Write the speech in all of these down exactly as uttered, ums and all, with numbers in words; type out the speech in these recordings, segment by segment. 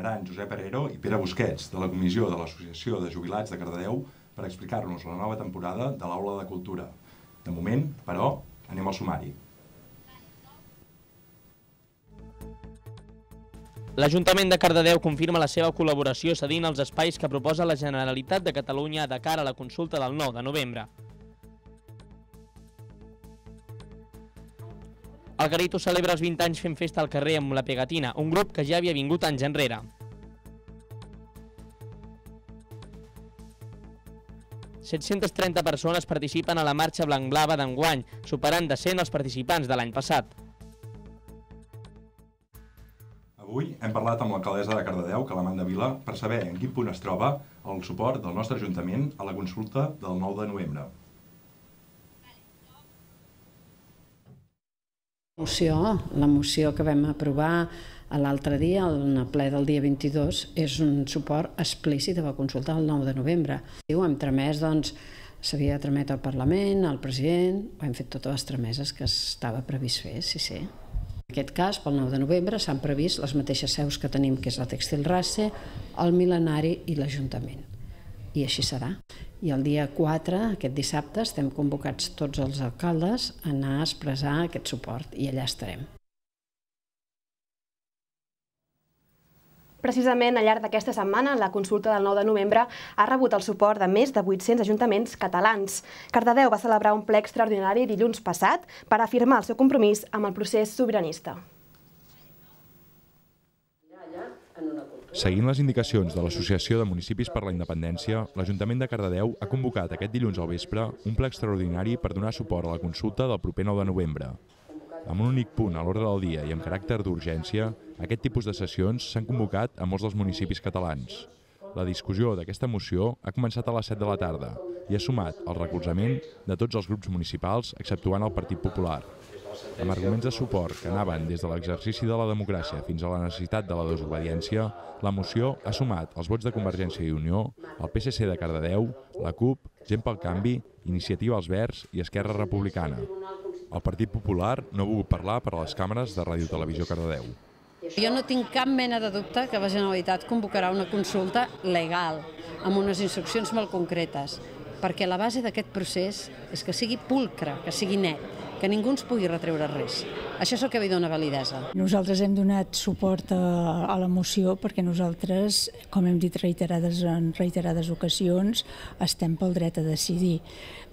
Acompanyaran Josep Herrero i Pere Busquets, de la Comissió de l'Associació de Jubilats de Cardedeu, per explicar-nos la nova temporada de l'Aula de Cultura. De moment, però, anem al sumari. L'Ajuntament de Cardedeu confirma la seva col·laboració cedint els espais que proposa la Generalitat de Catalunya de cara a la consulta del nou de novembre. El Garito celebra els vint anys fent festa al carrer amb la Pegatina, un grup que ja havia vingut anys enrere. set-centes trenta persones participen a la marxa blanc-blava d'enguany, superant de cent els participants de l'any passat. Avui hem parlat amb l'alcaldessa de Cardedeu, Calamanda Vila, per saber en quin punt es troba el suport del nostre Ajuntament a la consulta del nou de novembre. La moció, la moció que vam aprovar l'altre dia, en el ple del dia vint-i-dos, és un suport explícit a la consulta del nou de novembre. Hem tramès, doncs, s'havia de trametre al Parlament, al president, hem fet totes les trameses que estava previst fer, sí, sí. En aquest cas, pel nou de novembre, s'han previst les mateixes seus que tenim, que és la Tèxtil Race, el Mil·lenari i l'Ajuntament. I així serà. I el dia quatre, aquest dissabte, estem convocats tots els alcaldes a anar a expressar aquest suport i allà estarem. Precisament al llarg d'aquesta setmana, la consulta del nou de novembre ha rebut el suport de més de vuit-cents ajuntaments catalans. Cardedeu va celebrar un ple extraordinari dilluns passat per afirmar el seu compromís amb el procés sobiranista. Seguint les indicacions de l'Associació de Municipis per la Independència, l'Ajuntament de Cardedeu ha convocat aquest dilluns al vespre un ple extraordinari per donar suport a la consulta del proper nou de novembre. Amb un únic punt a l'ordre del dia i amb caràcter d'urgència, aquest tipus de sessions s'han convocat a molts dels municipis catalans. La discussió d'aquesta moció ha començat a les set de la tarda i ha sumat el recolzament de tots els grups municipals, exceptuant el Partit Popular. Amb arguments de suport que anaven des de l'exercici de la democràcia fins a la necessitat de la desobediència, la moció ha sumat els vots de Convergència i Unió, el P S C de Cardedeu, la CUP, Gent pel Canvi, Iniciativa als Verds i Esquerra Republicana. El Partit Popular no ha volgut parlar per a les càmeres de Ràdio Televisió Cardedeu. Jo no tinc cap mena de dubte que la Generalitat convocarà una consulta legal, amb unes instruccions molt concretes, perquè la base d'aquest procés és que sigui pulcre, que sigui net, que ningú ens pugui retreure res. Això és el que li dona validesa. Nosaltres hem donat suport a, a la moció perquè nosaltres, com hem dit reiterades en reiterades ocasions, estem pel dret a decidir.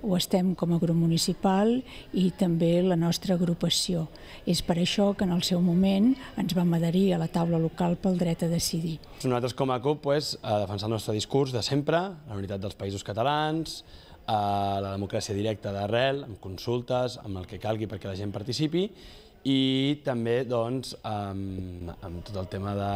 Ho estem com a grup municipal i també la nostra agrupació. És per això que en el seu moment ens vam adherir a la taula local pel dret a decidir. Nosaltres com a CUP pues, a defensar el nostre discurs de sempre, la unitat dels països catalans, a la democràcia directa d'arrel, amb consultes, amb el que calgui perquè la gent participi i també doncs, amb, amb tot el tema de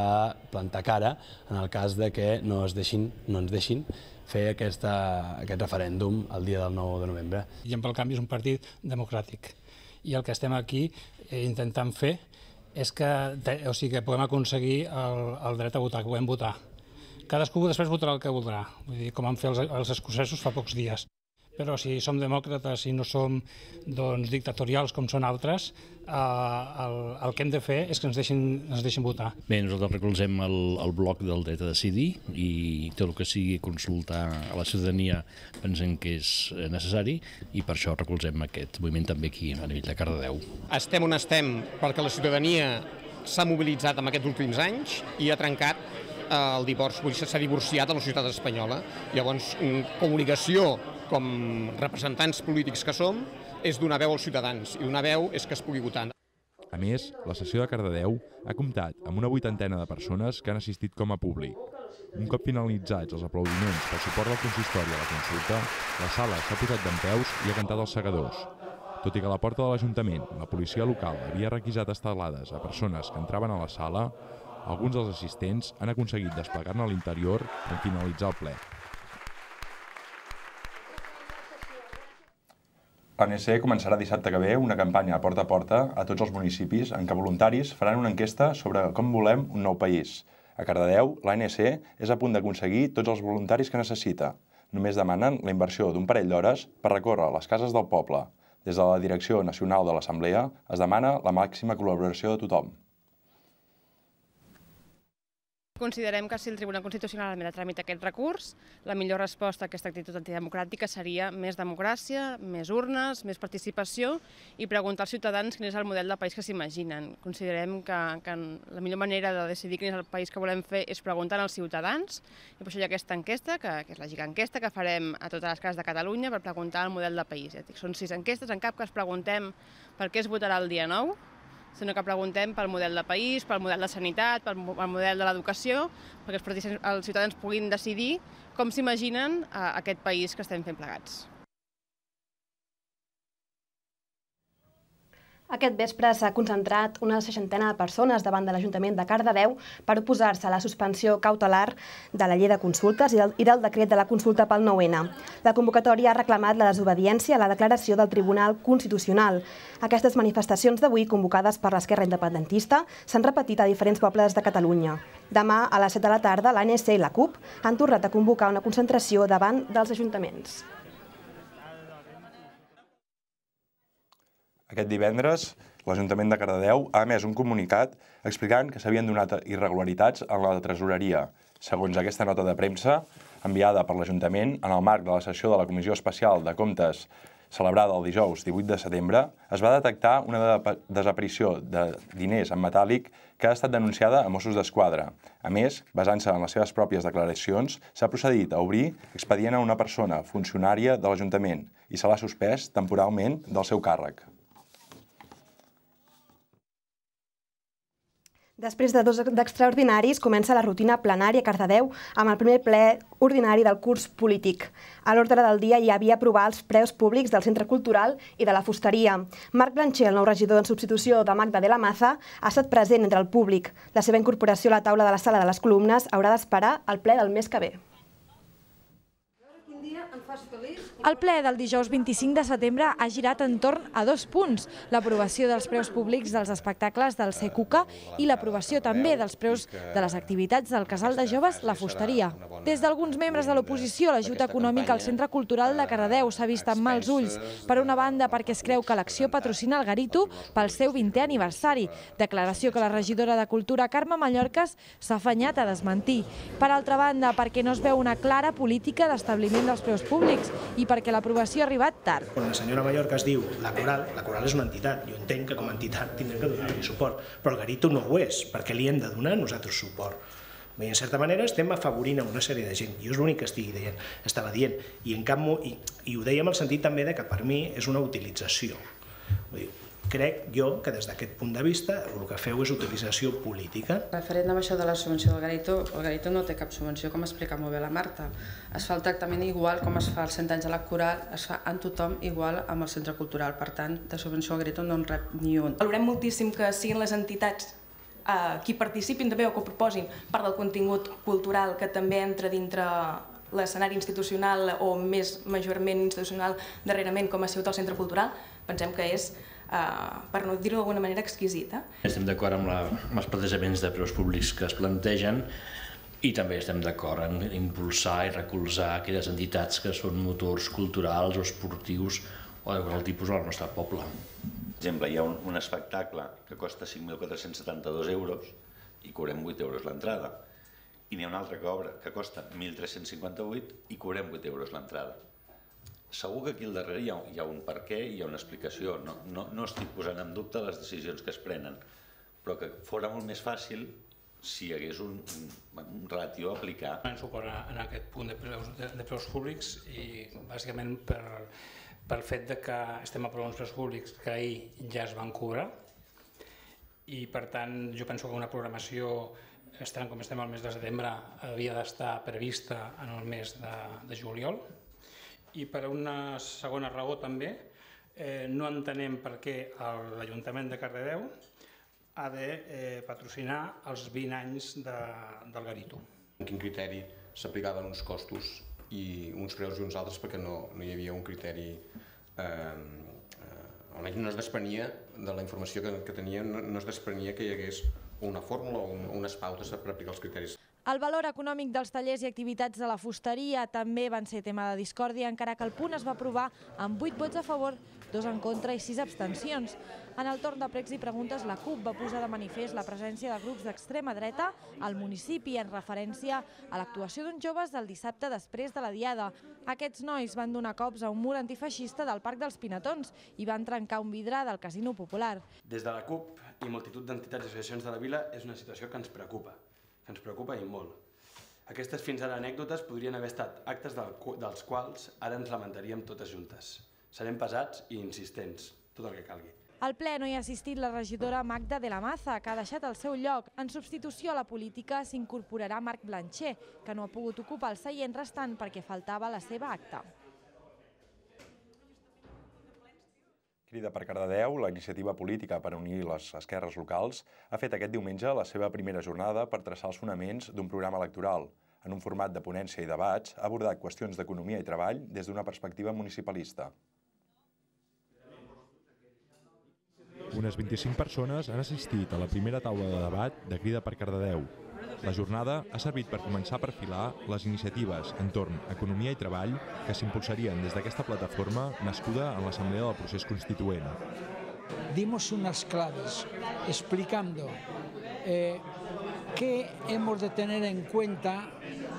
plantar cara en el cas de que no, es deixin, no ens deixin fer aquesta, aquest referèndum el dia del nou de novembre. Gent pel Canvi és un partit democràtic i el que estem aquí intentant fer és que, o sigui, que podem aconseguir el, el dret a votar, que podem votar. Cadascú després votarà el que voldrà, vull dir, com han fet els, els escocesos fa pocs dies. Però si som demòcrates i no som doncs, dictatorials com són altres, eh, el, el que hem de fer és que ens deixin, ens deixin votar. Bé, nosaltres recolzem el, el bloc del dret a decidir i tot el que sigui consultar a la ciutadania pensem que és necessari i per això recolzem aquest moviment també aquí a nivell de Cardedeu. Estem on estem perquè la ciutadania s'ha mobilitzat en aquests últims anys i ha trencat el divorci, s'ha divorciat de la societat espanyola. Llavors, comunicació com representants polítics que som, és donar veu als ciutadans, i donar veu és que es pugui votar. A més, la sessió de Cardedeu ha comptat amb una vuitantena de persones que han assistit com a públic. Un cop finalitzats els aplaudiments pel suport del consistori a la consulta, la sala s'ha posat dempeus i ha cantat els segadors. Tot i que a la porta de l'Ajuntament la policia local havia requisat estelades a persones que entraven a la sala, alguns dels assistents han aconseguit desplegar-ne a l'interior en finalitzar el ple. L'A N C començarà dissabte que ve una campanya a porta a porta a tots els municipis en què voluntaris faran una enquesta sobre com volem un nou país. A Cardedeu, l'A N C és a punt d'aconseguir tots els voluntaris que necessita. Només demanen la inversió d'un parell d'hores per recórrer les cases del poble. Des de la Direcció Nacional de l'Assemblea es demana la màxima col·laboració de tothom. Considerem que si el Tribunal Constitucional admet a tràmit aquest recurs, la millor resposta a aquesta actitud antidemocràtica seria més democràcia, més urnes, més participació i preguntar als ciutadans quin és el model de país que s'imaginen. Considerem que, que la millor manera de decidir quin és el país que volem fer és preguntar als ciutadans i per això hi ha aquesta enquesta, que, que és la giga enquesta que farem a totes les cases de Catalunya per preguntar el model de país. Són sis enquestes, en cap cas preguntem per què es votarà el dia nou, sinó que preguntem pel model de país, pel model de sanitat, pel model de l'educació, perquè els, els ciutadans puguin decidir com s'imaginen aquest país que estem fent plegats. Aquest vespre s'ha concentrat una seixantena de persones davant de l'Ajuntament de Cardedeu per oposar-se a la suspensió cautelar de la llei de consultes i del, i del decret de la consulta pel nou ene. La convocatòria ha reclamat la desobediència a la declaració del Tribunal Constitucional. Aquestes manifestacions d'avui, convocades per l'Esquerra Independentista, s'han repetit a diferents pobles de Catalunya. Demà, a les set de la tarda, l'A N C i la CUP han tornat a convocar una concentració davant dels ajuntaments. Aquest divendres, l'Ajuntament de Cardedeu ha emès un comunicat explicant que s'havien donat irregularitats en la tresoreria. Segons aquesta nota de premsa, enviada per l'Ajuntament en el marc de la sessió de la Comissió Especial de Comptes celebrada el dijous divuit de setembre, es va detectar una desaparició de diners en metàl·lic que ha estat denunciada a Mossos d'Esquadra. A més, basant-se en les seves pròpies declaracions, s'ha procedit a obrir expedient a una persona funcionària de l'Ajuntament i se l'ha suspès temporalment del seu càrrec. Després de dos d'extraordinaris, comença la rutina plenària a Cardedeu amb el primer ple ordinari del curs polític. A l'ordre del dia hi havia aprovar els preus públics del Centre Cultural i de la Fusteria. Marc Blancher, el nou regidor en substitució de Magda de la Maza, ha estat present entre el públic. La seva incorporació a la taula de la Sala de les Columnes haurà d'esperar el ple del mes que ve. El ple del dijous vint-i-cinc de setembre ha girat entorn a dos punts, l'aprovació dels preus públics dels espectacles del C Q C i l'aprovació també dels preus de les activitats del Casal de Joves La Fusteria. Des d'alguns membres de l'oposició, l'ajut econòmic al Centre Cultural de Cardedeu s'ha vist amb mals ulls. Per una banda, perquè es creu que l'acció patrocina el Garito pel seu vintè aniversari, declaració que la regidora de Cultura, Carme Mallorcas, s'ha afanyat a desmentir. Per altra banda, perquè no es veu una clara política d'establiment dels preus públics i perquè l'aprovació ha arribat tard. Quan la senyora Mallorcas diu la coral, la coral és una entitat. Jo entenc que com a entitat tindrem que donar-li suport, però el Garito no ho és, perquè li hem de donar nosaltres suport. I en certa manera estem afavorint a una sèrie de gent. Jo és l'únic que estigui dient, estava dient. I, en cap, i, i ho deia en el sentit també de que per mi és una utilització. Vull dir, crec jo que des d'aquest punt de vista el que feu és utilització política. Referent amb això de la subvenció del Garito, el Garito no té cap subvenció, com explica molt bé la Marta. Es fa el tractament igual com es fa als cent anys de la coral, es fa en tothom igual amb el centre cultural. Per tant, de subvenció al Garito no en rep ni un. Valorem moltíssim que siguin les entitats eh, qui participin també o que proposin part del contingut cultural que també entra dintre l'escenari institucional o més majorment institucional darrerament com ha sigut el centre cultural. Pensem que és Uh, per no dir-ho d'alguna manera, exquisita. Estem d'acord amb, la, amb els plantejaments de preus públics que es plantegen i també estem d'acord en impulsar i recolzar aquelles entitats que són motors culturals o esportius o de qualsevol tipus al nostre poble. Per exemple, hi ha un, un espectacle que costa cinc mil quatre-cents setanta-dos euros i cobrem vuit euros l'entrada. I n'hi ha un altre que, obra, que costa mil tres-cents cinquanta-vuit i cobrem vuit euros l'entrada. Segur que aquí al darrere hi ha, hi ha un per què, hi ha una explicació. No, no, no estic posant en dubte les decisions que es prenen, però que fora molt més fàcil si hi hagués un, un, un ràtio a aplicar. Donem suport en aquest punt de preus, de, de preus públics i bàsicament per, pel fet de que estem aprovant uns preus públics que ahir ja es van cobrar i per tant jo penso que una programació, estem, com estem al mes de setembre, havia d'estar prevista en el mes de, de juliol. I per una segona raó també, eh, no entenem per què l'Ajuntament de Cardedeu ha de eh, patrocinar els vint anys de, del Garito. En quin criteri s'aplicaven uns costos i uns preus i uns altres perquè no, no hi havia un criteri, eh, eh, almenys no es desprenia de la informació que, que teníem, no, no es desprenia que hi hagués una fórmula o un, unes pautes per aplicar els criteris. El valor econòmic dels tallers i activitats de la fusteria també van ser tema de discòrdia, encara que el punt es va aprovar amb vuit vots a favor, dos en contra i sis abstencions. En el torn de pregs i preguntes, la CUP va posar de manifest la presència de grups d'extrema dreta al municipi en referència a l'actuació d'uns joves del dissabte després de la Diada. Aquests nois van donar cops a un mur antifeixista del Parc dels Pinatons i van trencar un vidre del Casino Popular. Des de la CUP i multitud d'entitats i associacions de la vila és una situació que ens preocupa. que ens preocupa i molt. Aquestes fins ara anècdotes podrien haver estat actes dels quals ara ens lamentaríem totes juntes. Serem pesats i insistents, tot el que calgui. Al ple no hi ha assistit la regidora Magda de la Maza, que ha deixat el seu lloc. En substitució a la política s'incorporarà Marc Blancher, que no ha pogut ocupar el seient restant perquè faltava la seva acta. Crida per Cardedeu, la iniciativa política per unir les esquerres locals, ha fet aquest diumenge la seva primera jornada per traçar els fonaments d'un programa electoral. En un format de ponència i debats, ha abordat qüestions d'economia i treball des d'una perspectiva municipalista. Unes vint-i-cinc persones han assistit a la primera taula de debat de Crida per Cardedeu. La jornada ha servit per començar a perfilar les iniciatives entorn a economia i treball que s'impulsarien des d'aquesta plataforma nascuda en l'Assemblea del Procés Constituent. Dimos unas claves explicando eh, qué hemos de tener en cuenta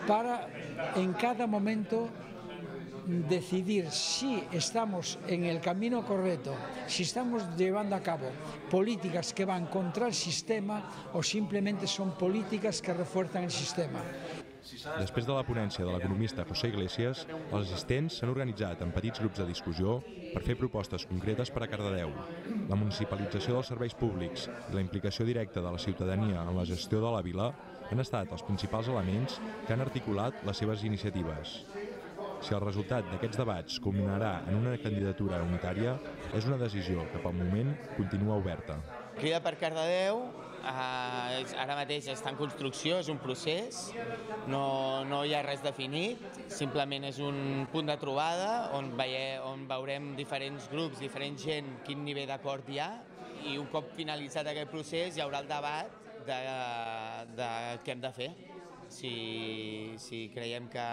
para en cada momento decidir si estamos en el camino correcto, si estamos llevando a cabo políticas que van contra el sistema o simplemente son políticas que refuerzan el sistema. Després de la ponència de l'economista José Iglesias, els assistents s'han organitzat en petits grups de discussió per fer propostes concretes per a Cardedeu. La municipalització dels serveis públics i la implicació directa de la ciutadania en la gestió de la vila han estat els principals elements que han articulat les seves iniciatives. Si el resultat d'aquests debats culminarà en una candidatura unitària, és una decisió que pel moment continua oberta. Crida per Cardedeu, eh, ara mateix està en construcció, és un procés, no, no hi ha res definit, simplement és un punt de trobada on, veie, on veurem diferents grups, diferent gent, quin nivell d'acord hi ha, i un cop finalitzat aquest procés hi haurà el debat de, de què hem de fer. Si, si creiem que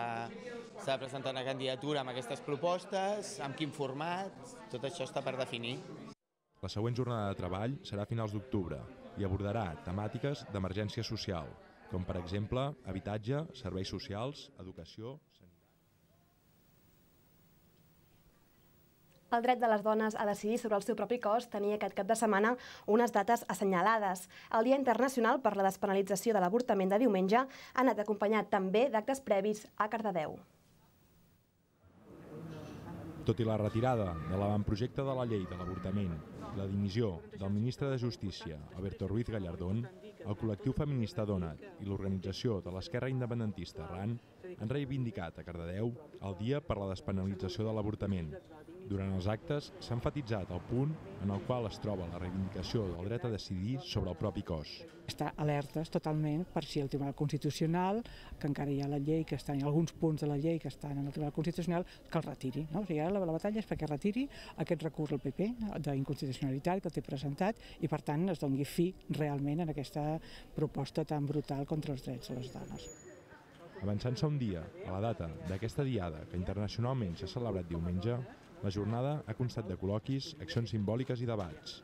s'ha de presentar una candidatura amb aquestes propostes, amb quin format, tot això està per definir. La següent jornada de treball serà a finals d'octubre i abordarà temàtiques d'emergència social, com per exemple habitatge, serveis socials, educació, sanitat. El dret de les dones a decidir sobre el seu propi cos tenia aquest cap de setmana unes dates assenyalades. El Dia Internacional per la Despenalització de l'Avortament de diumenge ha anat acompanyat també d'actes previs a Cardedeu. Tot i la retirada de l'avantprojecte de la llei de l'avortament i la dimissió del ministre de Justícia, Alberto Ruiz Gallardón, el col·lectiu feminista Donat i l'organització de l'esquerra independentista RAN han reivindicat a Cardedeu el Dia per la Despenalització de l'Avortament. Durant els actes s'ha enfatitzat el punt en el qual es troba la reivindicació del dret a decidir sobre el propi cos. Està alertes totalment per si el Tribunal Constitucional, que encara hi ha la llei, que estan, hi ha alguns punts de la llei que estan en el Tribunal Constitucional, que el retiri. No? O sigui, ara la, la batalla és perquè retiri aquest recurs al P P d'inconstitucionalitat que el té presentat i, per tant, es doni fi realment en aquesta proposta tan brutal contra els drets de les dones. Avançant-se un dia a la data d'aquesta diada que internacionalment s'ha celebrat diumenge, la jornada ha constat de col·loquis, accions simbòliques i debats.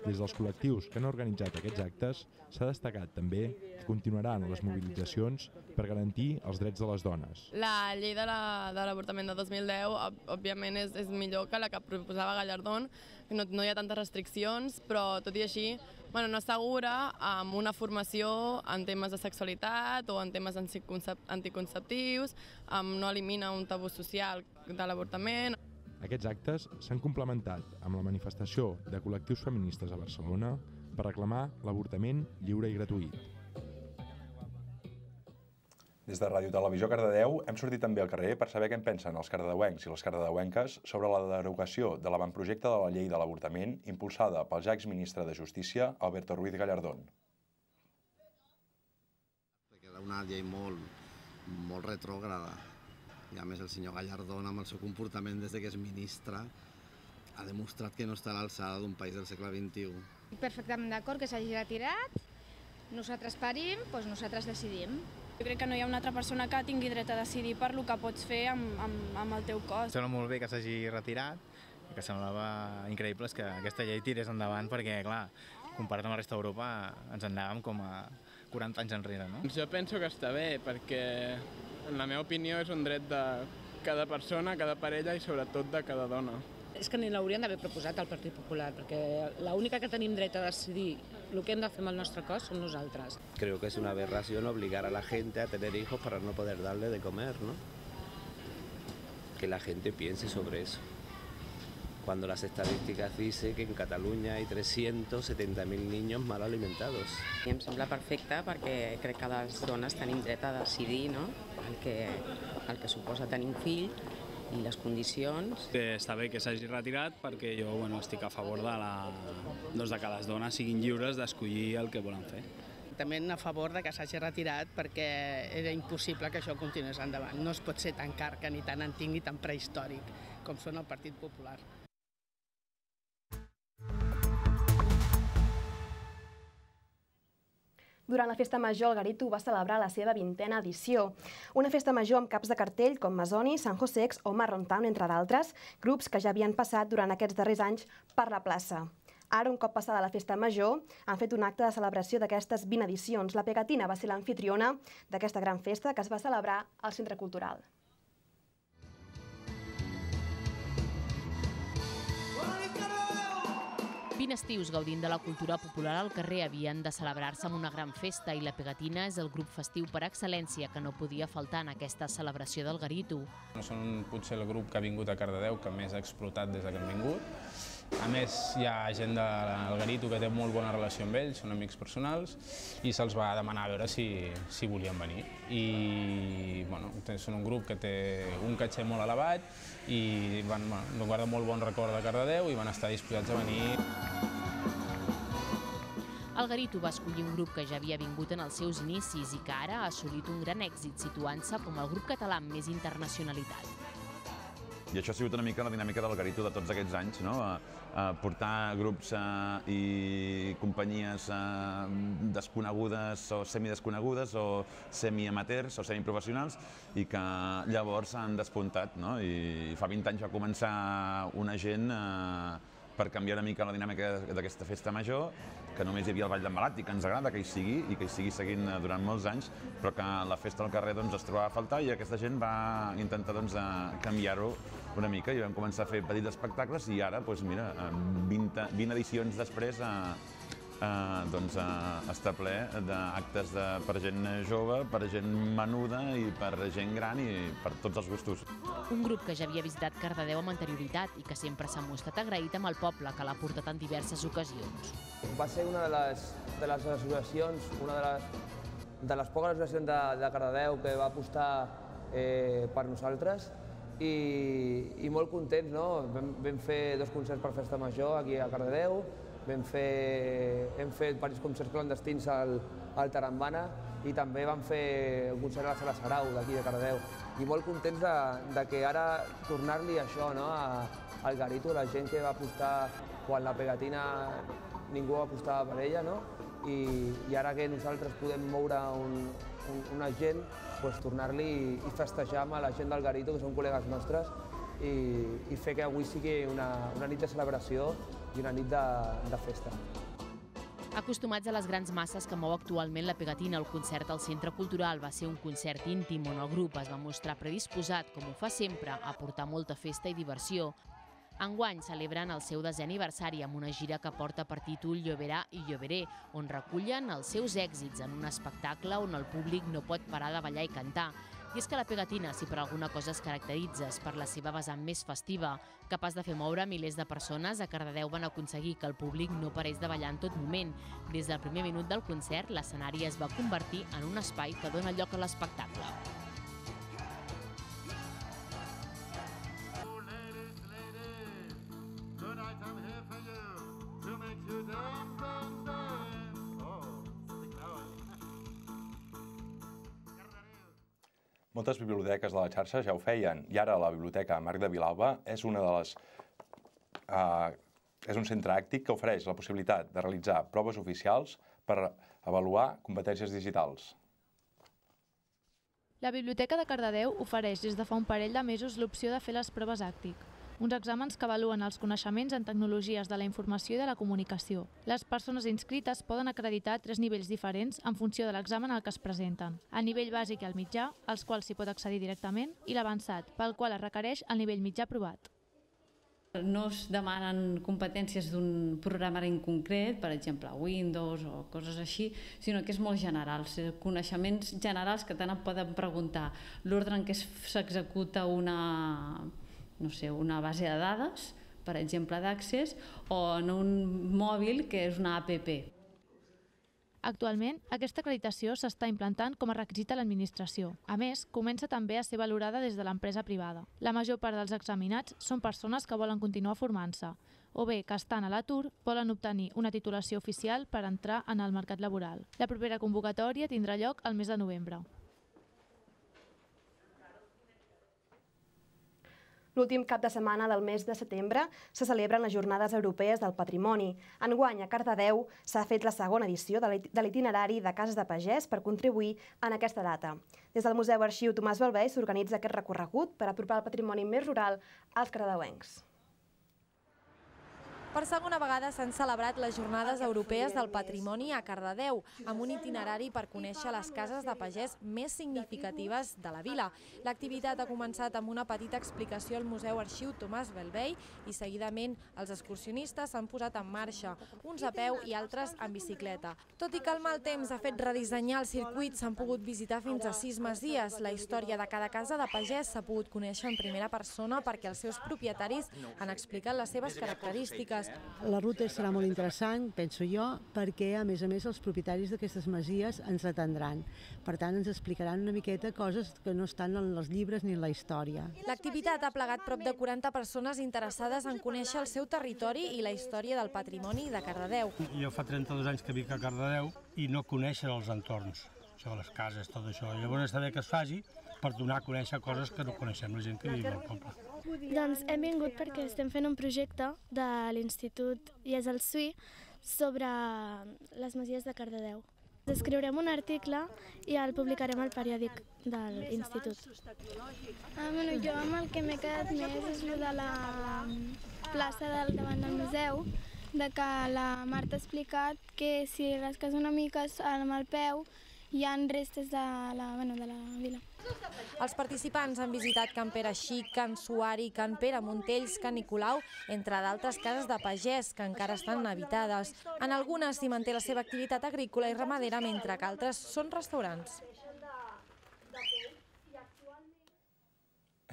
Des dels col·lectius que han organitzat aquests actes, s'ha destacat també que continuaran les mobilitzacions per garantir els drets de les dones. La llei de l'avortament de, de dos mil deu, òbviament, és, és millor que la que proposava Gallardón, que no, no hi ha tantes restriccions, però tot i així bueno, no assegura amb una formació en temes de sexualitat o en temes anticonceptius, no elimina un tabú social de l'avortament. Aquests actes s'han complementat amb la manifestació de col·lectius feministes a Barcelona per reclamar l'avortament lliure i gratuït. Des de Ràdio Televisió Cardedeu hem sortit també al carrer per saber què en pensen els cardedeuencs i les cardedeuenques sobre la derogació de l'avantprojecte de la llei de l'avortament impulsada pel ja exministre de Justícia, Alberto Ruiz Gallardón. Era una llei molt, molt retrògrada. I a més el senyor Gallardón, amb el seu comportament des que és ministre, ha demostrat que no està a l'alçada d'un país del segle vint-i-u. Perfectament d'acord que s'hagi retirat, nosaltres parim, doncs nosaltres decidim. Jo crec que no hi ha una altra persona que tingui dret a decidir per el que pots fer amb, amb, amb el teu cos. Sembla molt bé que s'hagi retirat, i que semblava increïble que aquesta llei tirés endavant perquè, clar, comparat amb la resta d'Europa, ens en anàvem com a quaranta anys enrere, no? Jo penso que està bé, perquè en la meva opinió és un dret de cada persona, cada parella i sobretot de cada dona. És que ni l'haurien d'haver proposat al Partit Popular, perquè l'única que tenim dret a decidir el que hem de fer amb el nostre cos som nosaltres. Creo que es una aberración obligar a la gente a tener hijos para no poder darle de comer, ¿no? Que la gente piense sobre eso. Cuando las estadísticas dicen que en Cataluña hay trescientos setenta mil niños mal alimentados. I em sembla perfecte perquè crec que les dones tenim dret a decidir, no? el, que, el que suposa tenir un fill i les condicions. Està bé que s'hagi retirat perquè jo bueno, estic a favor de, la, doncs de que les dones siguin lliures d'escollir el que volen fer. També a favor de que s'hagi retirat perquè era impossible que això continués endavant. No es pot ser tan carca, ni tan antic, ni tan prehistòric com són el Partit Popular. Durant la Festa Major, el Garito va celebrar la seva vintena edició. Una festa major amb caps de cartell com Masoni, San Josex o Marron Town, entre d'altres, grups que ja havien passat durant aquests darrers anys per la plaça. Ara, un cop passada la Festa Major, han fet un acte de celebració d'aquestes vint edicions. La Pegatina va ser l'anfitriona d'aquesta gran festa que es va celebrar al Centre Cultural. vint estius gaudint de la cultura popular al carrer havien de celebrar-se amb una gran festa i la Pegatina és el grup festiu per excel·lència que no podia faltar en aquesta celebració del Garito. Són potser el grup que ha vingut a Cardedeu que més ha explotat des que han vingut. A més, hi ha gent del Garito que té molt bona relació amb ells, són amics personals, i se'ls va demanar a veure si, si volien venir. I bueno, són un grup que té un caché molt elevat i van, bueno, guarda molt bon record de Cardedeu i van estar disposats a venir. El Garito va escollir un grup que ja havia vingut en els seus inicis i que ara ha assolit un gran èxit, situant-se com el grup català amb més internacionalitat. I això ha sigut una mica la dinàmica del Garito de tots aquests anys, no? Portar grups i companyies desconegudes o semidesconegudes o semiamateurs o semiprofessionals i que llavors s'han despuntat, no? I fa vint anys va començar una gent per canviar una mica la dinàmica d'aquesta festa major, que només hi havia el Ball d'en Balat i que ens agrada que hi sigui i que hi sigui seguint durant molts anys, però que la festa al carrer es trobava a faltar i aquesta gent va intentar canviar-ho una mica i vam començar a fer petits espectacles i ara, mira, vint edicions després està ple d'actes per gent jove, per gent menuda i per gent gran i per tots els gustos. Un grup que ja havia visitat Cardedeu amb anterioritat i que sempre s'ha mostrat agraït amb el poble, que l'ha portat en diverses ocasions. Va ser una de les, de les associacions, una de les, de les poques associacions de, de Cardedeu que va apostar eh, per nosaltres i, i molt contents, no? Vam, vam fer dos concerts per Festa Major aquí a Cardedeu, vam fer, hem fet diversos concerts clandestins al, al Tarambana i també vam fer un concert a la Sala Sarau d'aquí de Cardedeu. I molt contents de, de que ara tornar-li això, no? a, al Garito, la gent que va apostar quan la Pegatina ningú apostava per ella, no? I, i ara que nosaltres podem moure un, un, una gent, pues, tornar-li i, i festejar amb la gent del Garito, que són col·legues nostres, i, i fer que avui sigui una, una nit de celebració i una nit de, de festa. Acostumats a les grans masses que mou actualment la Pegatina, el concert al Centre Cultural va ser un concert íntim on el grup es va mostrar predisposat, com ho fa sempre, a portar molta festa i diversió. Enguany celebren el seu desè aniversari amb una gira que porta per títol Lloverà i Lloveré, on recullen els seus èxits en un espectacle on el públic no pot parar de ballar i cantar. I és que la Pegatina, si per alguna cosa es caracteritza, és per la seva vessant més festiva. Capaç de fer moure milers de persones, a Cardedeu van aconseguir que el públic no parés de ballar en tot moment. Des del primer minut del concert, l'escenari es va convertir en un espai que dona lloc a l'espectacle. Moltes biblioteques de la xarxa ja ho feien i ara la Biblioteca Marc de Vilalba és una de les eh, és un centre àctic que ofereix la possibilitat de realitzar proves oficials per avaluar competències digitals. La Biblioteca de Cardedeu ofereix des de fa un parell de mesos l'opció de fer les proves àctic, uns exàmens que avaluen els coneixements en tecnologies de la informació i de la comunicació. Les persones inscrites poden acreditar tres nivells diferents en funció de l'examen al que es presenten. El nivell bàsic i el mitjà, als quals s'hi pot accedir directament, i l'avançat, pel qual es requereix el nivell mitjà aprovat. No es demanen competències d'un programari en concret, per exemple Windows o coses així, sinó que és molt general, coneixements generals que tant et poden preguntar l'ordre en què s'executa una, no sé, una base de dades, per exemple d'Access, o en un mòbil que és una app. Actualment, aquesta acreditació s'està implantant com a requisit a l'administració. A més, comença també a ser valorada des de l'empresa privada. La major part dels examinats són persones que volen continuar formant-se, o bé que estan a l'atur volen obtenir una titulació oficial per entrar en el mercat laboral. La propera convocatòria tindrà lloc el mes de novembre. L'últim cap de setmana del mes de setembre se celebren les Jornades Europees del Patrimoni. Enguany, a Cardedeu, s'ha fet la segona edició de l'itinerari de Cases de Pagès per contribuir en aquesta data. Des del Museu Arxiu Tomàs Belvei s'organitza aquest recorregut per apropar el patrimoni més rural als cardedeuencs. Per segona vegada s'han celebrat les Jornades Europees del Patrimoni a Cardedeu, amb un itinerari per conèixer les cases de pagès més significatives de la vila. L'activitat ha començat amb una petita explicació al Museu Arxiu Tomàs Belvei i seguidament els excursionistes s'han posat en marxa, uns a peu i altres en bicicleta. Tot i que el mal temps ha fet redissenyar el circuit, s'han pogut visitar fins a sis masies. La història de cada casa de pagès s'ha pogut conèixer en primera persona perquè els seus propietaris han explicat les seves característiques. La ruta serà molt interessant, penso jo, perquè a més a més els propietaris d'aquestes masies ens atendran. Per tant, ens explicaran una miqueta coses que no estan en els llibres ni en la història. L'activitat ha plegat prop de quaranta persones interessades en conèixer el seu territori i la història del patrimoni de Cardedeu. Jo fa trenta-dos anys que vic a Cardedeu i no conèixer els entorns, això, les cases, tot això. Llavors està bé que es faci per donar a conèixer coses que no coneixem la gent que viu al poble. Doncs hem vingut perquè estem fent un projecte de l'Institut I E S el S U I sobre les masies de Cardedeu. Escriurem un article i el publicarem al periòdic de l'Institut. Ah, bueno, jo amb el que m'he quedat més és el de la plaça del davant del museu, de que la Marta ha explicat que si rasques una mica amb el peu hi ha restes de la, bueno, de la vila. Els participants han visitat Can Pere Xic, Can Suari, Can Pere Montells, Can Nicolau, entre d'altres cases de pagès que encara estan habitades. En algunes s'hi manté la seva activitat agrícola i ramadera, mentre que altres són restaurants.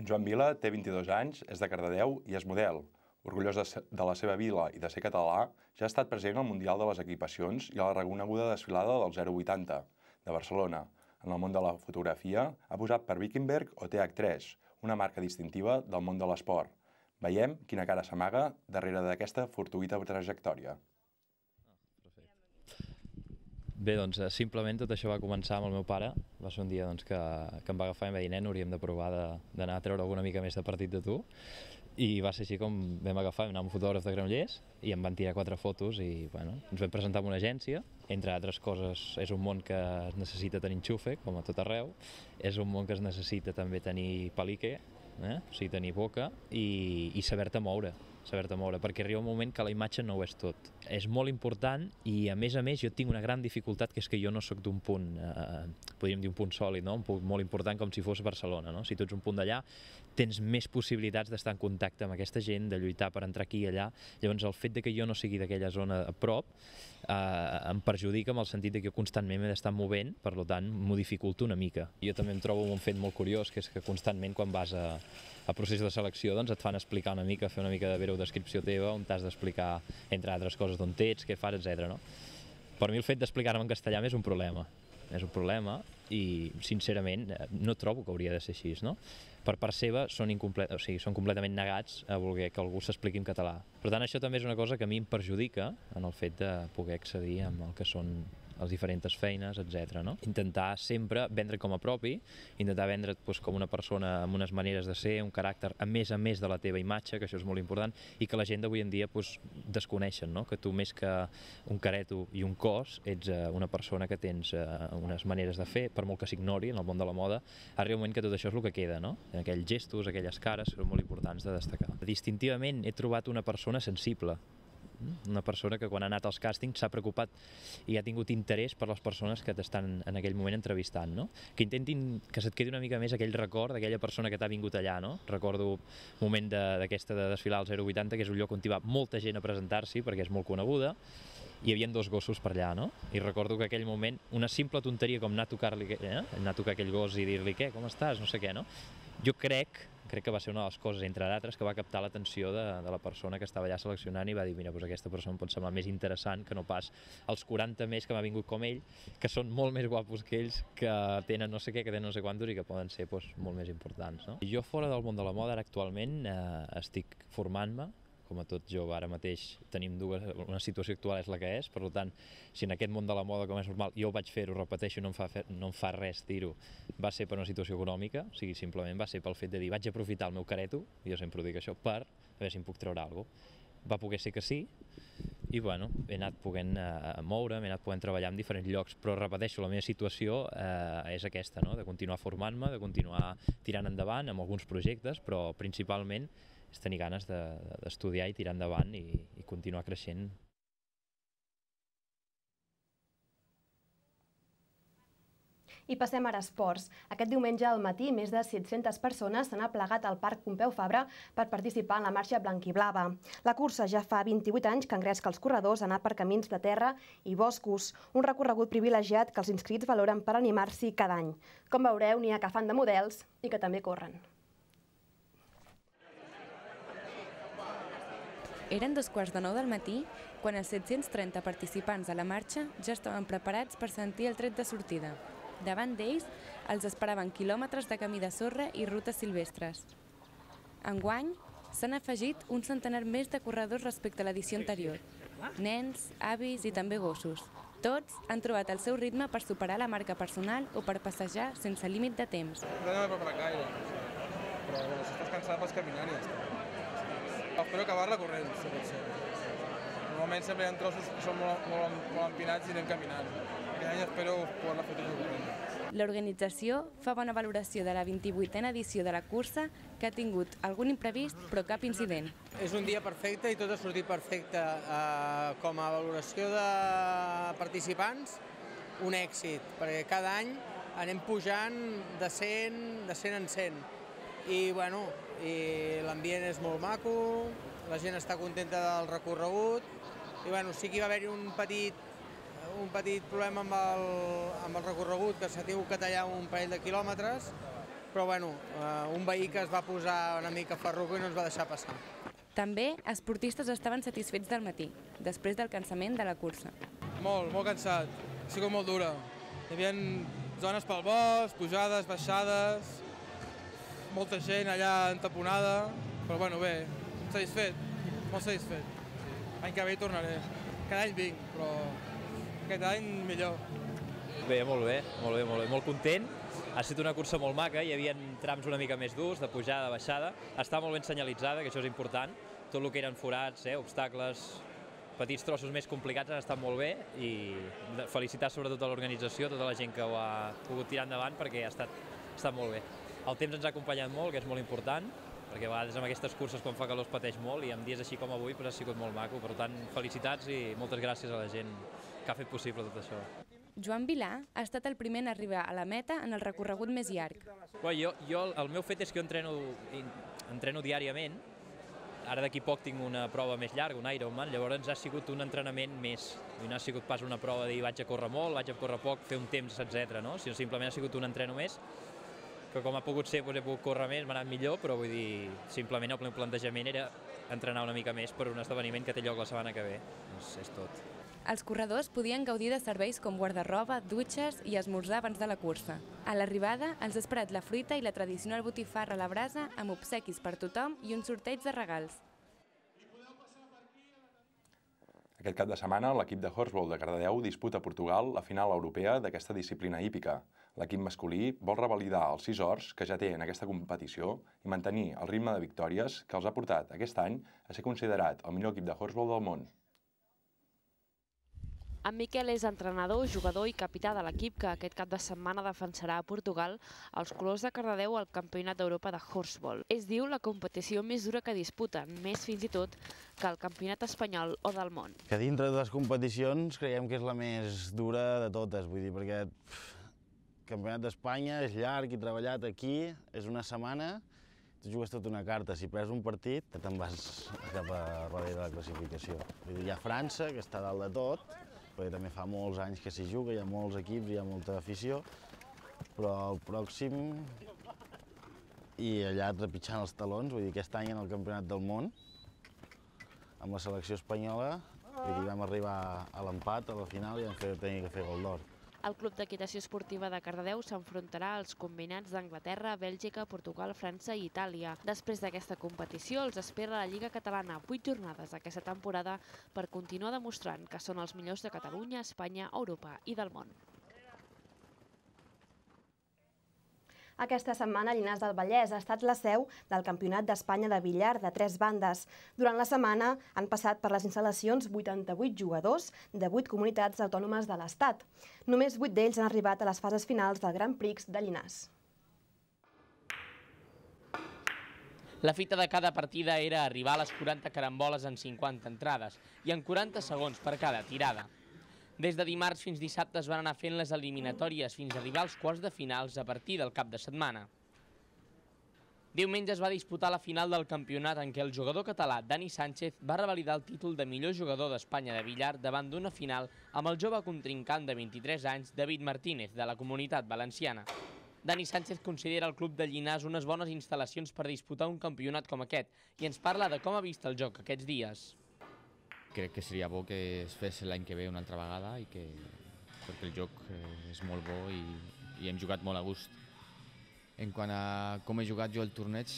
En Joan Vila té vint-i-dos anys, és de Cardedeu i és model. Orgullós de la seva vila i de ser català, ja ha estat present al Mundial de les Equipacions i a la reconeguda desfilada del zero vuitanta de Barcelona. En el món de la fotografia ha posat per Wickenberg o T H tres, una marca distintiva del món de l'esport. Veiem quina cara s'amaga darrere d'aquesta fortuïta trajectòria. Bé, doncs simplement tot això va començar amb el meu pare. Va ser un dia doncs, que, que em va agafar i em va dir, nen, hauríem de provar d'anar a treure alguna mica més de partit de tu. I va ser així com vam agafar, vam anar amb un fotògraf de Granollers i em van tirar quatre fotos i bueno, ens vam presentar en una agència. Entre altres coses, és un món que es necessita tenir enxufe, com a tot arreu. És un món que es necessita també tenir palique, eh? O sigui, tenir boca i, i saber-te moure. saber-te moure, perquè arriba un moment que la imatge no ho és tot. És molt important i, a més a més, jo tinc una gran dificultat, que és que jo no sóc d'un punt, eh, podríem dir un punt sòlid, no? Un punt molt important com si fos Barcelona, no? Si tu ets un punt d'allà, tens més possibilitats d'estar en contacte amb aquesta gent, de lluitar per entrar aquí i allà. Llavors, el fet de que jo no sigui d'aquella zona a prop eh, em perjudica en el sentit de que jo constantment m'he d'estar movent, per tant, m'ho dificulto una mica. Jo també em trobo un fet molt curiós, que és que constantment, quan vas a al procés de selecció, doncs et fan explicar una mica, fer una mica de breu-descripció teva, on t'has d'explicar, entre altres coses, d'on ets, què fas, etcètera. No? Per mi el fet d'explicar-me en castellà és un problema. És un problema i, sincerament, no trobo que hauria de ser així, no? Per part seva són, o sigui, són completament negats a voler que algú s'expliqui en català. Per tant, això també és una cosa que a mi em perjudica en el fet de poder accedir amb el que són les diferents feines, etcètera. No? Intentar sempre vendre com a propi, intentar vendre't doncs, com una persona amb unes maneres de ser, un caràcter a més a més de la teva imatge, que això és molt important, i que la gent d'avui en dia doncs, desconeixen, no? Que tu més que un careto i un cos ets eh, una persona que tens eh, unes maneres de fer, per molt que s'ignori en el món de la moda, arriba un moment que tot això és el que queda, no? Aquells gestos, aquelles cares són molt importants de destacar. Distintivament he trobat una persona sensible, una persona que quan ha anat als càstings s'ha preocupat i ha tingut interès per les persones que t'estan en aquell moment entrevistant, no? Que intentin que se't quedi una mica més aquell record d'aquella persona que t'ha vingut allà, no? Recordo un moment d'aquesta de, de desfilar al zero vuitanta, que és un lloc on hi va molta gent a presentar-s'hi perquè és molt coneguda, hi havia dos gossos per allà, no? I recordo que aquell moment, una simple tonteria com anar a tocar-li, eh? anar a tocar aquell gos i dir-li què, com estàs, no sé què, no? Jo crec crec que va ser una de les coses, entre d'altres, que va captar l'atenció de, de la persona que estava allà seleccionant i va dir, mira, doncs aquesta persona em pot semblar més interessant que no pas els quaranta més que m'ha vingut com ell, que són molt més guapos que ells, que tenen no sé què, que tenen no sé quantos i que poden ser doncs, molt més importants. No? Jo fora del món de la moda, ara actualment eh, estic formant-me, com a tot jove, ara mateix tenim dues, una situació actual és la que és, per tant, si en aquest món de la moda, com és normal, jo ho vaig fer-ho, repeteixo, no em fa, fer, no em fa res dir-ho, va ser per una situació econòmica, o sigui, simplement va ser pel fet de dir, vaig aprofitar el meu careto, jo sempre ho dic això, per a veure si em puc treure alguna cosa. Va poder ser que sí, i bueno, he anat podent eh, moure, m'he anat podent treballar en diferents llocs, però repeteixo, la meva situació eh, és aquesta, no? De continuar formant-me, de continuar tirant endavant amb alguns projectes, però principalment és tenir ganes d'estudiar i tirar endavant i, i continuar creixent. I passem ara a esports. Aquest diumenge al matí, més de set-centes persones s'han aplegat al Parc Pompeu Fabra per participar en la marxa blanquiblava. La cursa ja fa vint-i-vuit anys que engresca els corredors a anar per camins de terra i boscos, un recorregut privilegiat que els inscrits valoren per animar-s'hi cada any. Com veureu, n'hi ha que fan de models i que també corren. Eren dos quarts de nou del matí quan els set-cents trenta participants de la marxa ja estaven preparats per sentir el tret de sortida. Davant d'ells els esperaven quilòmetres de camí de sorra i rutes silvestres. Enguany s'han afegit un centenar més de corredors respecte a l'edició anterior. Nens, avis i també gossos. Tots han trobat el seu ritme per superar la marca personal o per passejar sense límit de temps. No m'he preparat gaire, però si estàs cansat pots caminar i ja està. Espero acabar-la corrent, si pot ser. Normalment sempre hi ha trossos que són molt, molt, molt empinats i anem caminant. Aquest any espero poder-la fer tot corrent. L'organització fa bona valoració de la vint-i-vuitena edició de la cursa, que ha tingut algun imprevist però cap incident. És un dia perfecte i tot ha sortit perfecte. Eh, com a valoració de participants, un èxit, perquè cada any anem pujant de cent, de cent en cent. I bueno, i l'ambient és molt maco, la gent està contenta del recorregut i bueno, sí que hi va haver-hi un petit, un petit problema amb el, amb el recorregut, que s'ha tingut que tallar un parell de quilòmetres, però bueno, eh, un veí que es va posar una mica ferruco i no ens va deixar passar. També esportistes estaven satisfets del matí, després del cansament de la cursa. Molt, molt cansat, ha sigut molt dura. Hi havia zones pel bosc, pujades, baixades, molta gent allà entaponada, però bueno, bé, satisfet, molt satisfet. L'any que ve hi tornaré. Cada any vinc, però aquest any millor. Bé, molt bé, molt bé, molt bé, molt content. Ha estat una cursa molt maca, hi havia trams una mica més durs, de pujada, de baixada. Està molt ben senyalitzada, que això és important. Tot el que eren forats, eh, obstacles, petits trossos més complicats han estat molt bé i felicitar sobretot a l'organització, tota la gent que ho ha pogut tirar endavant perquè ha estat, ha estat molt bé. El temps ens ha acompanyat molt, que és molt important, perquè a vegades amb aquestes curses quan fa calor es pateix molt i en dies així com avui ha sigut molt maco. Per tant, felicitats i moltes gràcies a la gent que ha fet possible tot això. Joan Vilà ha estat el primer en arribar a la meta en el recorregut més llarg. Bé, jo, jo, el meu fet és que jo entreno, entreno diàriament. Ara d'aquí poc tinc una prova més llarga, un Ironman, llavors ha sigut un entrenament més. No ha sigut pas una prova de dir vaig a córrer molt, vaig a córrer poc, fer un temps, etcètera, no? Sinó simplement ha sigut un entreno més, que com ha pogut ser, doncs he pogut córrer més, m'ha anat millor, però vull dir, simplement el meu plantejament era entrenar una mica més per un esdeveniment que té lloc la setmana que ve. Doncs és tot. Els corredors podien gaudir de serveis com guardarroba, dutxes i esmorzar abans de la cursa. A l'arribada els ha esperat la fruita i la tradicional botifarra a la brasa amb obsequis per tothom i un sorteig de regals. Aquest cap de setmana, l'equip de Horsball de Cardedeu disputa a Portugal la final europea d'aquesta disciplina hípica. L'equip masculí vol revalidar els sis ors que ja té en aquesta competició i mantenir el ritme de victòries que els ha portat aquest any a ser considerat el millor equip de Horsball del món. En Miquel és entrenador, jugador i capità de l'equip que aquest cap de setmana defensarà a Portugal els colors de Cardedeu al Campionat d'Europa de Horsball. És, diu, la competició més dura que disputen, més fins i tot que el Campionat espanyol o del món. Que dintre de les competicions creiem que és la més dura de totes, vull dir, perquè el Campionat d'Espanya és llarg i treballat aquí, és una setmana, tu jugues tota una carta, si perds un partit, te'n vas cap a darrere de la classificació. Vull dir, hi ha França, que està dalt de tot, perquè també fa molts anys que s'hi juga, hi ha molts equips, hi ha molta afició, però el pròxim, i allà trepitjant els talons, vull dir, aquest any en el Campionat del Món, amb la selecció espanyola, vull dir, vam arribar a l'empat a la final i vam tenir que fer gol d'or. El Club d'Equitació Esportiva de Cardedeu s'enfrontarà als combinats d'Anglaterra, Bèlgica, Portugal, França i Itàlia. Després d'aquesta competició els espera la Lliga Catalana, vuit jornades aquesta temporada per continuar demostrant que són els millors de Catalunya, Espanya, Europa i del món. Aquesta setmana, Llinars del Vallès ha estat la seu del Campionat d'Espanya de billar de tres bandes. Durant la setmana han passat per les instal·lacions vuitanta-vuit jugadors de vuit comunitats autònomes de l'Estat. Només vuit d'ells han arribat a les fases finals del Grand Prix de Llinars. La fita de cada partida era arribar a les quaranta caramboles en cinquanta entrades i en quaranta segons per cada tirada. Des de dimarts fins dissabte es van anar fent les eliminatòries fins a arribar als quarts de finals a partir del cap de setmana. Diumenge es va disputar la final del campionat en què el jugador català Dani Sánchez va revalidar el títol de millor jugador d'Espanya de billar davant d'una final amb el jove contrincant de vint-i-tres anys David Martínez, de la Comunitat Valenciana. Dani Sánchez considera el club de Llinars unes bones instal·lacions per disputar un campionat com aquest i ens parla de com ha vist el joc aquests dies. Crec que seria bo que es fes l'any que ve una altra vegada i que, perquè el joc és molt bo i, i hem jugat molt a gust. En quant a com he jugat jo el torneig,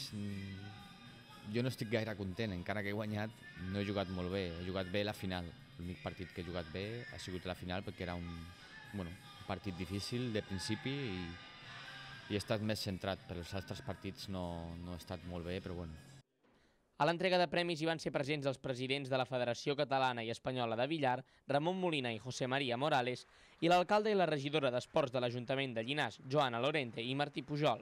jo no estic gaire content, encara que he guanyat no he jugat molt bé, he jugat bé la final. L'únic partit que he jugat bé ha sigut la final perquè era un, bueno, un partit difícil de principi i, i he estat més centrat, però els altres partits no, no he estat molt bé, però bueno. A l'entrega de premis hi van ser presents els presidents de la Federació Catalana i Espanyola de Billar, Ramon Molina i José María Morales, i l'alcalde i la regidora d'Esports de l'Ajuntament de Llinars, Joana Lorente i Martí Pujol.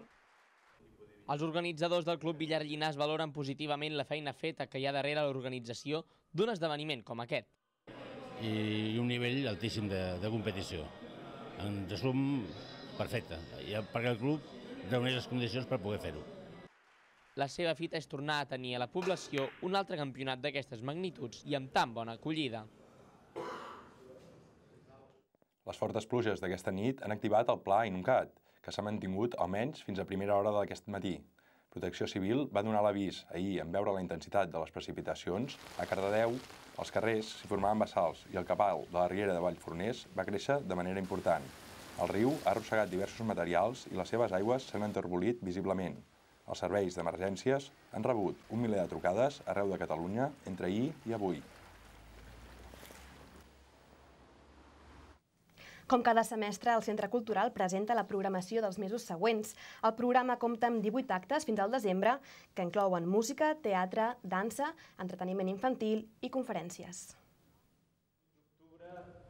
Els organitzadors del Club Billar Llinars valoren positivament la feina feta que hi ha darrere l'organització d'un esdeveniment com aquest. I un nivell altíssim de, de competició. En resum, perfecte, perquè el club reuneix les condicions per poder fer-ho. La seva fita és tornar a tenir a la població un altre campionat d'aquestes magnituds i amb tan bona acollida. Les fortes pluges d'aquesta nit han activat el pla Inuncat, que s'ha mantingut almenys fins a primera hora d'aquest matí. Protecció Civil va donar l'avís ahir en veure la intensitat de les precipitacions. A Cardedeu, els carrers s'hi formaven bassals i el cabal de la riera de Vallforners va créixer de manera important. El riu ha arrossegat diversos materials i les seves aigües s'han enterbolit visiblement. Els serveis d'emergències han rebut un miler de trucades arreu de Catalunya entre ahir i avui. Com cada semestre, el Centre Cultural presenta la programació dels mesos següents. El programa compta amb divuit actes fins al desembre, que inclouen música, teatre, dansa, entreteniment infantil i conferències.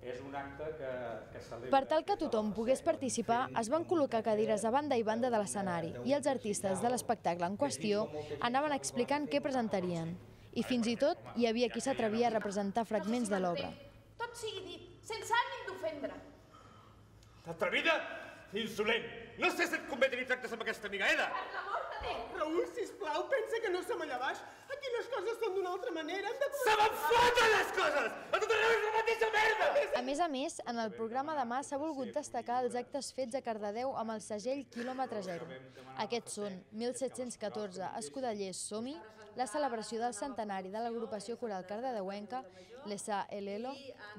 És un acte que, que celebra... Per tal que tothom pogués participar, es van col·locar cadires a banda i banda de l'escenari i els artistes de l'espectacle en qüestió anaven explicant què presentarien. I fins i tot hi havia qui s'atrevia a representar fragments de l'obra. Tot sigui dit, sense ànim d'ofendre. Atrevida? Insolent! No sé si et convé tenir tractes amb aquesta amiga Eda! Per l'amor de Déu! Raül, sisplau, pensa que no som allà baix. Aquí les coses són d'una altra manera. Se me'n foten les coses! A tot arreu és la mateixa merda! A més a més, en el programa demà s'ha volgut destacar els actes fets a Cardedeu amb el segell quilòmetre zero. Aquests són mil set-cents catorze Escudellers Som-hi, la celebració del centenari de l'agrupació coral cardedeuenca, l'Essa Elelo,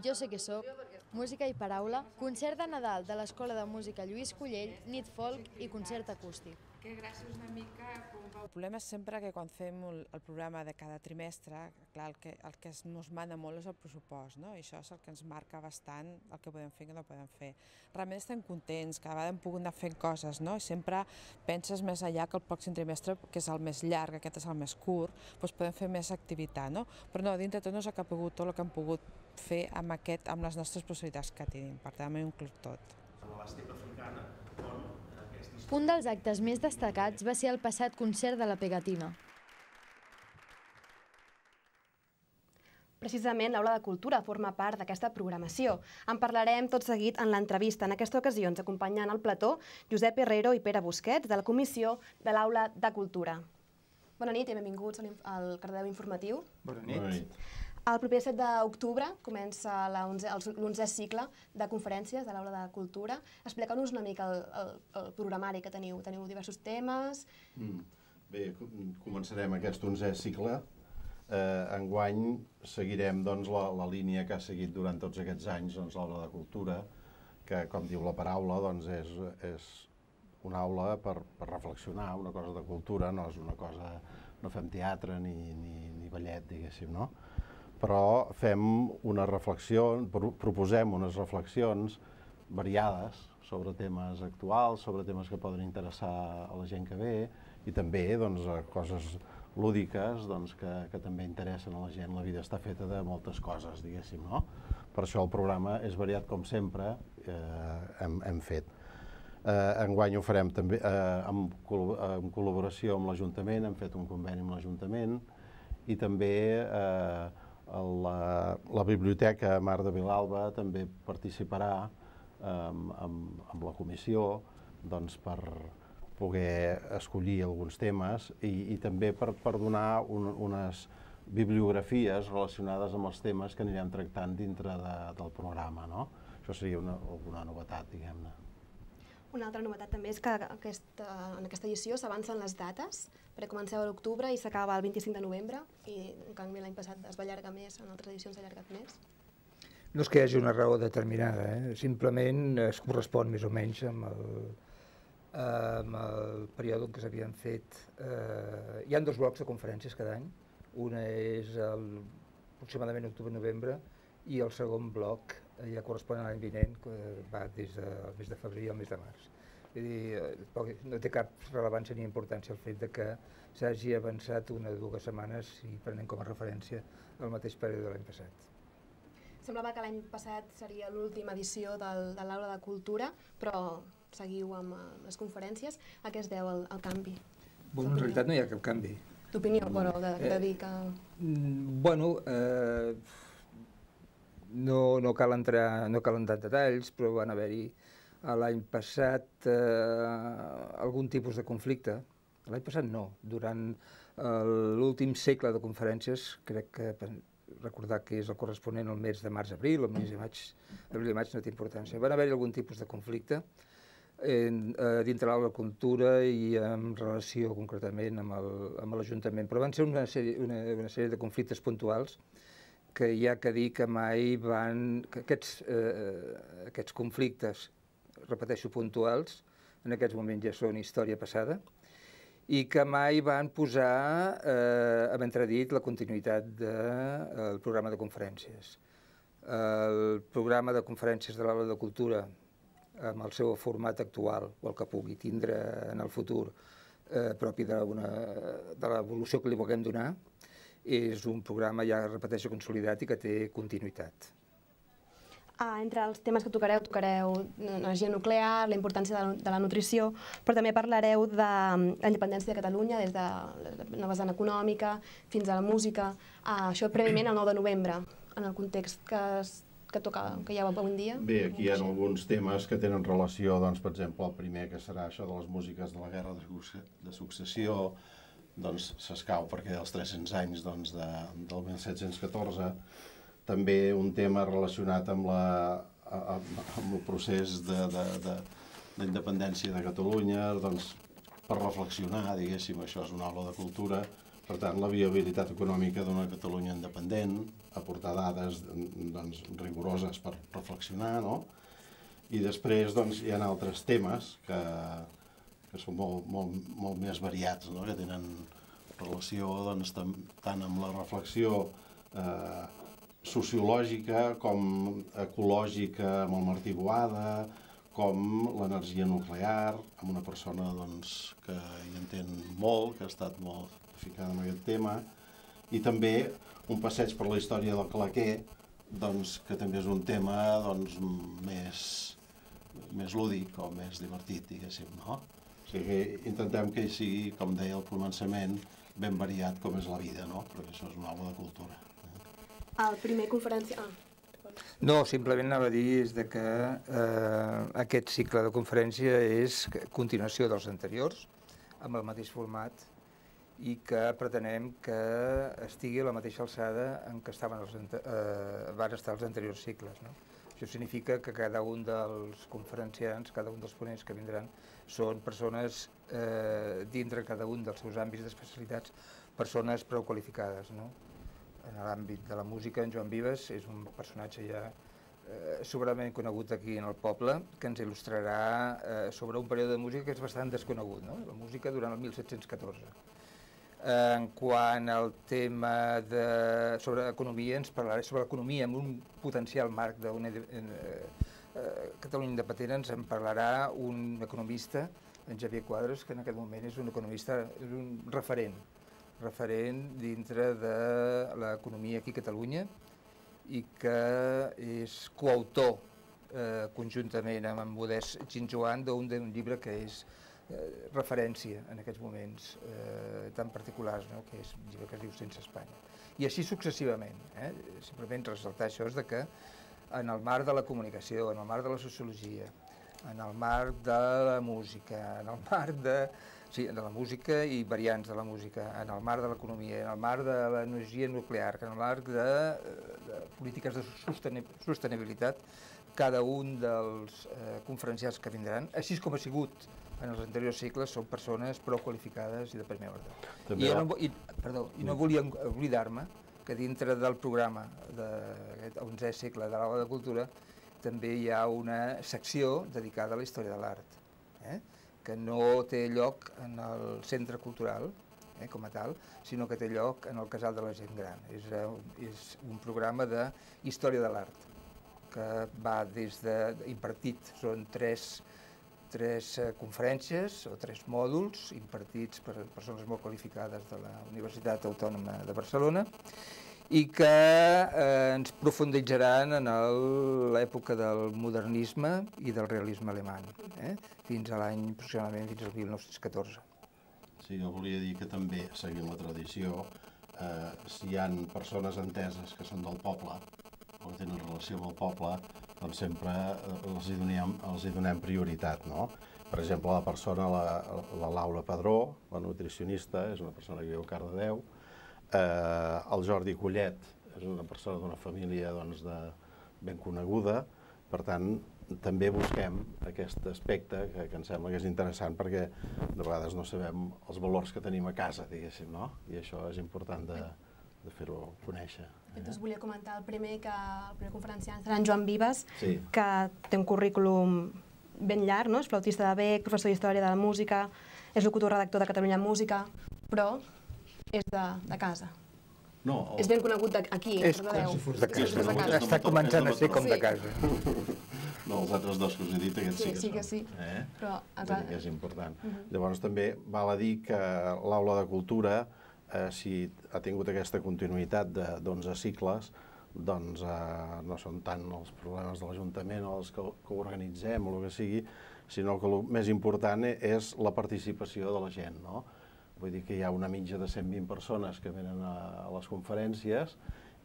Jo sé que soc, música i paraula, concert de Nadal de l'Escola de Música Lluís Collell, nit folk i concert acústic. que gràcies una mica com va... El problema és sempre que quan fem el, el programa de cada trimestre, clar, el que, el que ens mana molt és el pressupost, no? I això és el que ens marca bastant el que podem fer i que no podem fer. Realment estem contents, cada vegada hem pogut anar fent coses, no? I sempre penses més allà que el pròxim trimestre, que és el més llarg, aquest és el més curt, doncs podem fer més activitat, no? Però no, dintre tot no s'ha pogut tot el que hem pogut fer amb, aquest, amb les nostres possibilitats que tenim, per tant hem inclús tot. Un dels actes més destacats va ser el passat concert de la Pegatina. Precisament l'Aula de Cultura forma part d'aquesta programació. En parlarem tot seguit en l'entrevista. En aquesta ocasió ens acompanyen al plató Josep Herrero i Pere Busquets, de la Comissió de l'Aula de Cultura. Bona nit i benvinguts al Cardedeu Informatiu. Bona nit. El proper set d'octubre comença l'onzè cicle de conferències de l'Aula de Cultura. Expliqueu-nos una mica el, el, el programari que teniu. Teniu diversos temes. Mm. Bé, començarem aquest onzè cicle. Eh, enguany seguirem doncs, la, la línia que ha seguit durant tots aquests anys doncs, l'Aula de Cultura, que, com diu la paraula, doncs, és, és una aula per, per reflexionar, una cosa de cultura, no és una cosa... No fem teatre ni, ni, ni ballet, diguéssim, no? Però fem una reflexió, proposem unes reflexions variades sobre temes actuals, sobre temes que poden interessar a la gent que ve i també doncs, coses lúdiques doncs, que, que també interessen a la gent. La vida està feta de moltes coses, diguéssim, no? Per això el programa és variat com sempre eh, hem, hem fet. Eh, enguany ho farem també eh, en, en col·laboració amb l'Ajuntament, hem fet un conveni amb l'Ajuntament i també eh, la, la Biblioteca Mar de Vilalba també participarà eh, amb, amb la comissió doncs, per poder escollir alguns temes i, i també per, per donar un, unes bibliografies relacionades amb els temes que anirem tractant dintre de, del programa, no? Això seria una, alguna novetat, diguem-ne. Una altra novetat també és que aquesta, en aquesta edició s'avancen les dates, perquè comenceu a l'octubre i s'acaba el vint-i-cinc de novembre, i en canvi l'any passat es va allargar més, en altres edicions s'ha allargat més. No és que hi hagi una raó determinada, eh? Simplement es correspon més o menys amb el, amb el període en què s'havien fet. Eh, hi ha dos blocs de conferències cada any, una és el, aproximadament octubre-novembre, i el segon bloc ja correspon a l'any vinent, que va des del mes de febrer al mes de març. Vull dir, no té cap rellevància ni importància el fet de que s'hagi avançat una o dues setmanes i prenem com a referència el mateix període de l'any passat. Semblava que l'any passat seria l'última edició del, de l'Aula de Cultura, però seguiu amb les conferències. A què es deu el, el canvi? Bueno, en realitat no hi ha cap canvi. D'opinió, bueno, de, de dir que... Bueno, eh, no, no cal entrar, no cal entrar en detalls, però van haver-hi l'any passat eh, algun tipus de conflicte. L'any passat no, durant l'últim segle de conferències, crec que recordar que és el corresponent al mes de març-abril, el mes de maig, abril i maig no té importància. Van haver-hi algun tipus de conflicte dintre l'Aula de Cultura i en relació concretament amb l'Ajuntament, però van ser una sèrie, una, una sèrie de conflictes puntuals que hi ha que dir que mai van... que aquests, eh, aquests conflictes, repeteixo, puntuals, en aquests moments ja són història passada, i que mai van posar eh, en entredit la continuïtat del programa de conferències. El programa de conferències de l'Aula de Cultura, amb el seu format actual, o el que pugui tindre en el futur, eh, propi de l'evolució que li vulguem donar, és un programa, ja repeteixo, consolidat i que té continuïtat. Ah, entre els temes que tocareu, tocareu l'energia nuclear, la importància de la, de la nutrició, però també parlareu de la independència de Catalunya, des de la vessant econòmica fins a la música. Ah, això prèviament el nou de novembre, en el context que, es, que, toca, que hi ha avui en dia. Bé, aquí hi ha alguns temes que tenen relació, doncs, per exemple, el primer que serà això de les músiques de la Guerra de Successió, doncs s'escau perquè els tres-cents anys doncs, de, del mil set-cents catorze, també un tema relacionat amb, la, amb, amb el procés d'independència de, de, de Catalunya, doncs, per reflexionar, diguéssim, això és una aula de cultura, per tant, la viabilitat econòmica d'una Catalunya independent, aportar dades doncs, rigoroses per reflexionar, no? I després doncs, hi ha altres temes que, que són molt, molt, molt més variats, no? Que tenen relació doncs, tant amb la reflexió eh, sociològica com ecològica amb el Martí Boada, com l'energia nuclear, amb una persona doncs, que hi entén molt, que ha estat molt ficada en aquest tema, i també un passeig per la història del claquer, doncs, que també és un tema doncs, més, més lúdic o més divertit, diguéssim, no? O sigui que intentem que sigui, com deia al començament, ben variat com és la vida, no? Perquè això és una aula de cultura. El primer conferència... Ah. No, simplement anava a dir és que eh, aquest cicle de conferència és continuació dels anteriors, amb el mateix format, i que pretenem que estigui a la mateixa alçada en què estaven els, eh, van estar els anteriors cicles. No? Això significa que cada un dels conferenciants, cada un dels ponents que vindran, són persones, eh, dintre cada un dels seus àmbits d'especialitats, persones prou qualificades. No? En l'àmbit de la música, en Joan Vives és un personatge ja eh, sobradament conegut aquí en el poble, que ens il·lustrarà eh, sobre un període de música que és bastant desconegut, no? La música durant el mil set-cents catorze. En quant al tema de, sobre economia, ens parlarà sobre l'economia en un potencial marc d'una eh, eh, Catalunya independent, ens en parlarà un economista, en Xavier Quadres, que en aquest moment és un economista, és un referent, referent dintre de l'economia aquí a Catalunya i que és coautor eh, conjuntament amb en Modest Ginjoan d'un llibre que és eh, referència en aquests moments eh, tan particulars, no? Que és un llibre que es diu Sense Espanya. I així successivament. Eh? Simplement ressaltar això és de que en el marc de la comunicació, en el marc de la sociologia, en el marc de la música, en el marc de... Sí, de la música i variants de la música, en el marc de l'economia, en el marc de l'energia nuclear, en el marc de, de polítiques de sostenibilitat, cada un dels eh, conferenciants que vindran, així com ha sigut en els anteriors cicles, són persones prou qualificades i de primer ordre. I, ja no, i, perdó, i no volia oblidar-me que dintre del programa d'aquest onzè cicle de l'Aula de Cultura també hi ha una secció dedicada a la història de l'art. Eh? Que no té lloc en el centre cultural, eh, com a tal, sinó que té lloc en el Casal de la Gent Gran. És, és un programa de història de l'art, que va des de impartit, són tres, tres conferències o tres mòduls impartits per persones molt qualificades de la Universitat Autònoma de Barcelona, i que eh, ens profunditzaran en l'època del modernisme i del realisme alemany, eh? Fins a l'any, aproximadament, fins al mil nou-cents catorze. Sí, jo volia dir que també, seguint la tradició, eh, si hi ha persones enteses que són del poble, o que tenen relació amb el poble, doncs sempre els hi donem, els hi donem prioritat, no? Per exemple, la persona, la, la Laura Padró, la nutricionista, és una persona que viu a Cardedeu. Eh, el Jordi Collet és una persona d'una família doncs, de, ben coneguda, per tant, també busquem aquest aspecte que, que em sembla que és interessant perquè de vegades no sabem els valors que tenim a casa, diguéssim, no? I això és important de, de fer-ho conèixer. De fet, us volia comentar el primer, que el primer conferenciant serà en Joan Vives, sí. Que té un currículum ben llarg, no? És flautista de bec, professor d'Història de la Música, és locutor redactor de Catalunya Música, però és de, de casa. No, el... És ben conegut aquí, a Cardedeu. És com si fos de casa. De casa. Està començant a ser com de casa. No, els altres dos que us he dit, aquests sí, sí que sí són. Que sí. Eh? Però, que és important. Uh -huh. Llavors també val a dir que l'Aula de Cultura, eh, si ha tingut aquesta continuïtat d'onze cicles, doncs eh, no són tant els problemes de l'Ajuntament o els que, que organitzem o el que sigui, sinó que el més important és la participació de la gent, no? Vull dir que hi ha una mitja de cent vint persones que venen a, a les conferències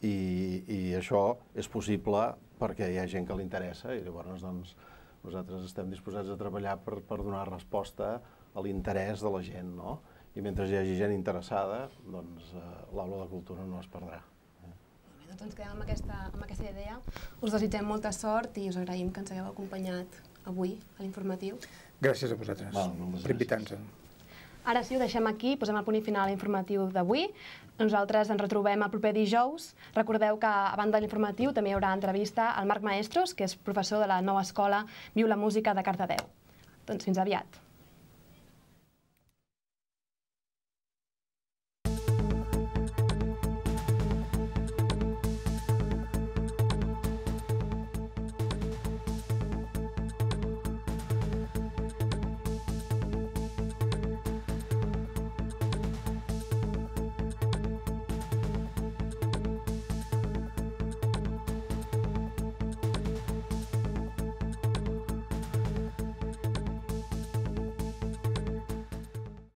i, i això és possible perquè hi ha gent que li interessa i llavors doncs, nosaltres estem disposats a treballar per, per donar resposta a l'interès de la gent, no? I mentre hi hagi gent interessada, doncs eh, l'Aula de Cultura no es perdrà. Doncs ens quedem amb aquesta, amb aquesta idea. Us desitgem molta sort i us agraïm que ens hagueu acompanyat avui a l'informatiu. Gràcies a vosaltres per invitar-nos. Ara sí, ho deixem aquí, posem el punt i final a l'informatiu d'avui. Nosaltres ens retrobem el proper dijous. Recordeu que, a banda de l'informatiu, també hi haurà entrevista al Marc Maestros, que és professor de la nova escola Viu la Música de Cardedeu. Doncs fins aviat.